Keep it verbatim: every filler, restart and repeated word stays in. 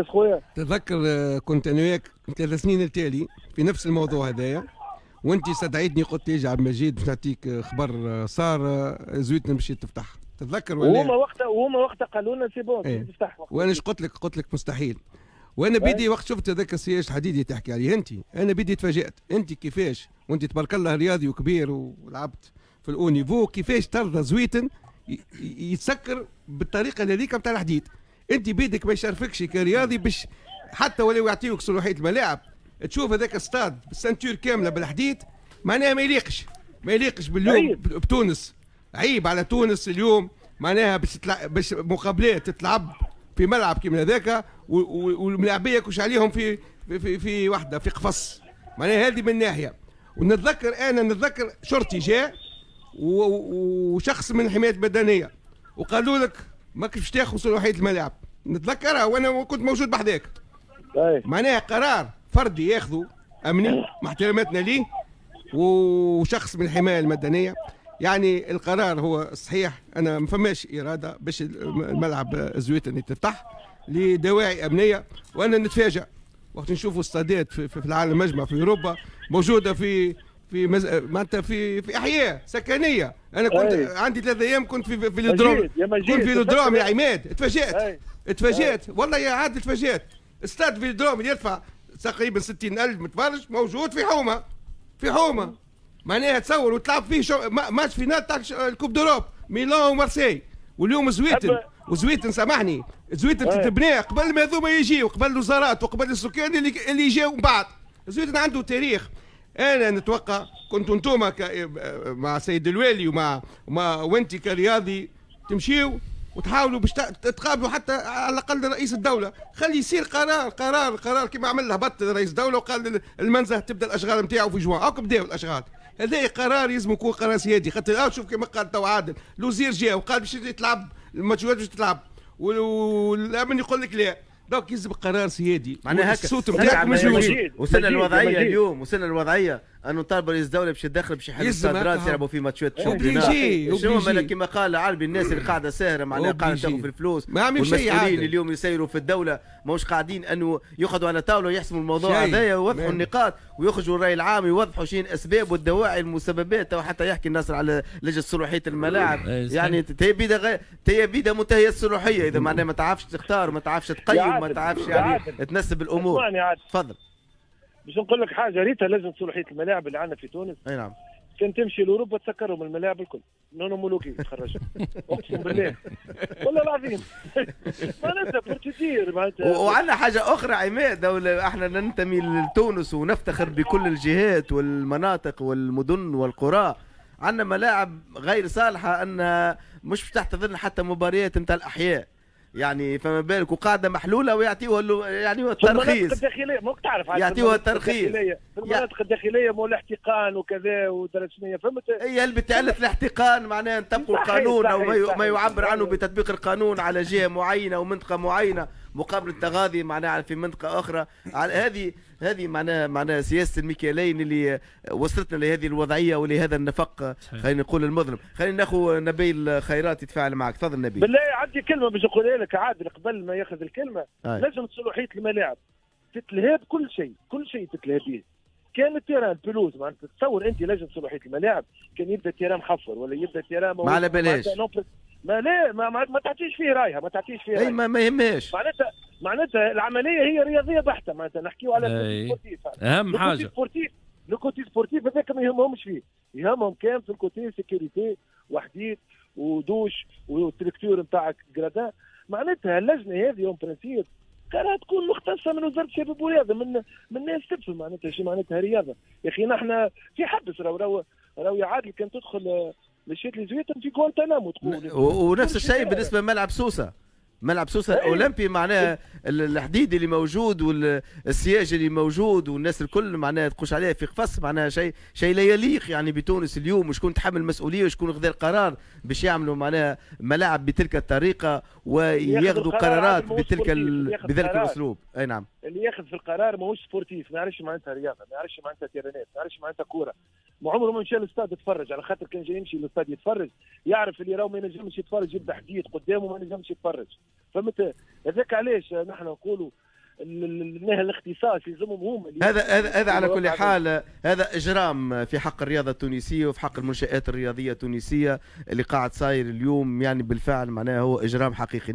خويا؟ تذكر كنت انا وياك ثلاث سنين التالي في نفس الموضوع هذايا، وانت استدعيتني قلت لي عبد المجيد باش نعطيك خبر صار زويتنا باش تفتح، تتذكر ولا؟ وهما وقتها وهما وقتها قالوا لنا c'est bon ايه. تفتح. وانا اش قلت لك؟ قلت لك مستحيل. وانا بيدي وقت شفت هذاك السياج الحديدي تحكي عليه انت، انا بيدي تفاجات، انت كيفاش وانت تبارك الله رياضي وكبير ولعبت في ال haut niveau، كيفاش ترضى زويتن يتسكر بالطريقة هذيك نتاع الحديد؟ انت بيدك ما يشرفكش كرياضي باش حتى ولو يعطيوك صلاحية الملاعب تشوف هذاك الستاد بال ceinture كاملة بالحديد، معناها ما يليقش، ما يليقش باليوم بتونس. عيب على تونس اليوم معناها باش تتلع... باش مقابلات تتلعب في ملعب كيما هذاك والملاعبيه كوش عليهم في في في, في وحده في قفص، معناها هذه من ناحية. ونتذكر انا نتذكر شرطي جاء وشخص من الحماية المدنية وقالوا لك ماكش باش تاخذ صلاحية الملاعب، نتذكرها وانا كنت موجود بحذاك. معناها قرار فردي ياخذه امني مع احتراماتنا ليه وشخص من الحماية المدنية، يعني القرار هو الصحيح. انا ما فماش اراده باش الملعب زويتن يتفتح لدواعي امنية، وانا نتفاجئ وقت نشوفوا استادات في, في العالم مجمع في اوروبا موجودة في في مز... معناتها في في احياء سكنية. انا كنت أي. عندي ثلاث ايام كنت في في فيلودروم، كنت في فيلودروم يا عماد، تفاجات تفاجات والله يا عادل تفاجات. استاد فيلودروم يدفع تقريبا ستين ألف متفرج موجود في حومه، في حومه معناها تصور وتلعب فيه شو... match finale تاع ال coupe d'Europe ميلان ومارسيل. واليوم زويتن وزويتن سامحني زويتن تتبنى قبل ما هذوما يجيو، قبل الوزارات وقبل السكان اللي اللي جاوا من بعد. زويتن عنده تاريخ. انا نتوقع كنتوا انتوما ك... مع سيد الوالي ومع مع وانت كرياضي تمشيو وتحاولوا باش تقابلوا حتى على الاقل رئيس الدولة، خلي يصير قرار قرار قرار كما عمل هبط رئيس الدولة وقال المنزه تبدا الاشغال نتاعو في جوان، هاك بداو الاشغال. هذا قرار لازم يكون قرار سيادي، خاطر شوف كما قال تو عادل، الوزير جا وقال باش تلعب الماتشات باش تلعب والامن يقول لك لا، donc يلزم قرار سيادي. معناها هكا الصوت نتاعك مش موجود. وصلنا الوضعية اليوم، وصلنا الوضعية انه طالب رئيس الدولة باش يتدخل باش يحل الصادرات يلعبوا في ماتشات championnat. شنو كما قال عربي الناس اللي قاعدة ساهره معناها قاعدة تاخذ في الفلوس، والمسؤولين اليوم يسيروا في الدولة ماهوش قاعدين انه يقعدوا على طاولة ويحسموا الموضوع هذايا ويوضحوا النقاط ويخرجوا الراي العام يوضحوا شنو الاسباب والدواعي المسببات. وحتى يحكي الناصر على لجنة صلاحية الملاعب، يعني تي بيدا تي بيدا منتهية الصلاحية اذا معناها ما تعرفش تختار ما تعرفش تقيم ما تعرفش يعني تنسب الامور. تفضل. باش نقول لك حاجة، ريتها لجنة صلاحية الملاعب اللي عندنا في تونس. اي نعم. كان تمشي لاوروبا تسكرهم الملاعب الكل، non homologués تخرجهم اقسم بالله والله العظيم. معناتها procédure معناتها. وعندنا حاجة اخرى عماد، دولة احنا ننتمي لتونس ونفتخر بكل الجهات والمناطق والمدن والقرى، عندنا ملاعب غير صالحه انها مش باش تحتضن حتى مباريات نتاع الاحياء، يعني فما بالك وقاعدة محلولة ويعطيوها يعني الترخيص. في المناطق الداخلية ماك تعرف يعطيوها الترخيص في المناطق الداخلية مو الاحتقان وكذا ودرجة شنية، فهمت؟ هي هل بتعلة الاحتقان معناها نطبقوا القانون او ما يعبر عنه بتطبيق القانون على جهة معينة او منطقة معينة مقابل التغاضي معناها في منطقة اخرى. هذه هذه معناها معناها سياسة الميكالين اللي وصلتنا لهذه الوضعية ولهذا النفق خلينا نقول المظلم. خلينا ناخذ نبيل خيرات يتفاعل معك، تفضل نبيل. بالله عندي كلمة باش نقولها لك عادل قبل ما ياخذ الكلمة. لجنة صلاحية الملاعب تتلهى بكل شيء، كل شيء تتلهى به. كان ال terrain pelouse معناتها تصور انت لجنة صلاحية الملاعب كان يبدا terrain محفر ولا يبدا terrain ما على بالهاش، ما لا ما, ما, ما تعطيش فيه رايها، ما تعطيش فيه رايها. اي ما, ما يهمهاش. معناتها معناتها العملية هي رياضية بحته، معناتها نحكيو على sportif. اهم حاجة sportif، le côté sportif هذاك ما يهمهمش فيه، يهمهم كان في ال côté sécurité وحديد ودوش وال structure نتاعك gradins. معناتها اللجنة هذه en principe كانها تكون مختصة من وزارة الشباب والرياضة، من من ناس تفهم معناتها شي معناتها رياضة. يا اخي نحن في حبس راهو راهو راهو يا عادل كان تدخل مشيت لزويتن في غوانتانامو تقول. ونفس الشيء بالنسبة لملعب سوسة، ملعب سوسة الاولمبي معناها الحديد اللي موجود والسياج اللي موجود والناس الكل معناها تقوش عليه في قفص، معناها شيء شيء لا يليق يعني بتونس اليوم. وشكون تحمل المسؤولية وشكون خذا القرار باش يعملوا معناها ملاعب بتلك الطريقة وياخذوا قرارات بتلك ال... بذلك الاسلوب. اي نعم. اللي ياخذ في القرار ماهوش sportif، ما يعرفش معناتها رياضة، ما يعرفش معناتها تيرانات، ما يعرفش معناتها كورة. ما عمره ما مشى للاستاد يتفرج، على خاطر كان جاي يمشي للاستاد يتفرج يعرف اللي راهو ما ينجمش يتفرج، يبدا حديد قدامه ما ينجمش يتفرج، فهمت؟ هذاك علاش نحن نقولوا الاختصاص يلزمهم هم. هذا هذا هذا على كل حال هذا اجرام في حق الرياضة التونسية وفي حق المنشات الرياضية التونسية اللي قاعد صاير اليوم، يعني بالفعل معناها هو اجرام حقيقي.